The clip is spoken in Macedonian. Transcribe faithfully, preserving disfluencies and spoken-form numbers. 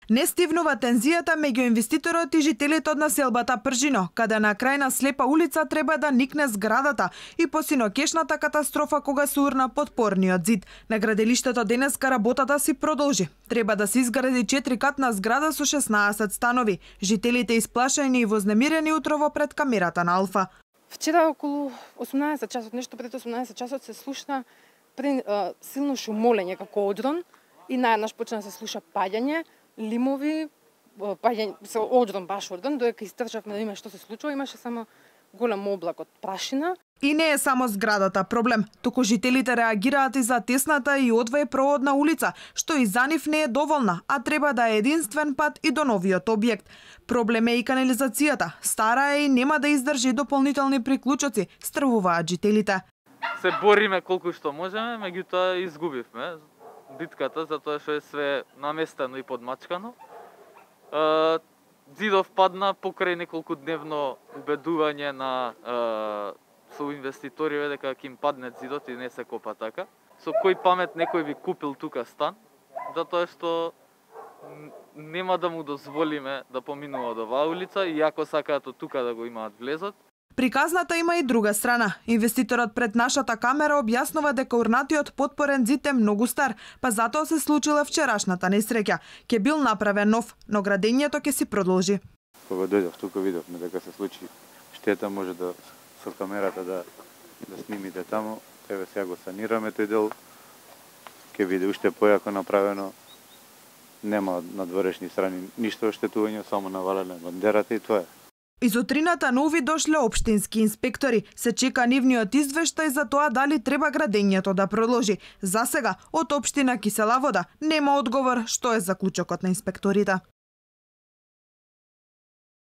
Не стивнува тензијата меѓу инвеститорот и жителите од населбата Пржино, каде на крај на слепа улица треба да никне зградата и посинокешната катастрофа кога се урна подпорниот зид. На граделиштето денеска работата си продолжи. Треба да се изгради четирикатна зграда со шеснаесет станови. Жителите исплашени и вознемирени утрово пред камерата на Алфа. Вчера околу осумнаесет часот, нешто пред осумнаесет часот се слушна при, а, силно шумолење како одрон и наеднаш почна да се слуша паѓање, лимови, паѓање, со одрон, баш одрон, додека истрчавме да видиме што се случува, имаше само голем облак од прашина. И не е само зградата проблем, туку жителите реагираат и за тесната и одвоепроводна улица, што и за нив не е доволна, а треба да е единствен пат и до новиот објект. Проблем е и канализацијата, стара е и нема да издржи дополнителни приклучоци, стрвуваат жителите. Се бориме колку што можеме, меѓутоа изгубивме битката затоа што е све наместено и подмачкано. Зидов падна покрај неколку дневно убедување на со инвеститорите дека ќе им падне зидот и не се копа така. Со кој памет некој би купил тука стан, затоа што нема да му дозволиме да поминува од оваа улица, иако сакаат од тука да го имаат влезот. Приказната има и друга страна. Инвеститорот пред нашата камера објаснува дека урнатиот подпорен зид е многу стар, па затоа се случила вчерашната несреќа. Ке бил направен нов, но градењето ќе си продолжи. Кога дојдов тука видовме дека се случи штета, може да со камерата да да снимите таму. Еве сега го санираме тој дел. Ке биде уште појако направено. Нема на дворешни страни ништо оштетување, само навалена бандерата и тоа е. Изутрината на увид дошле општински инспектори. Се чека нивниот извештај за тоа дали треба градењето да продолжи. За сега, од општина Кисела Вода нема одговор што е заклучокот на инспекторите.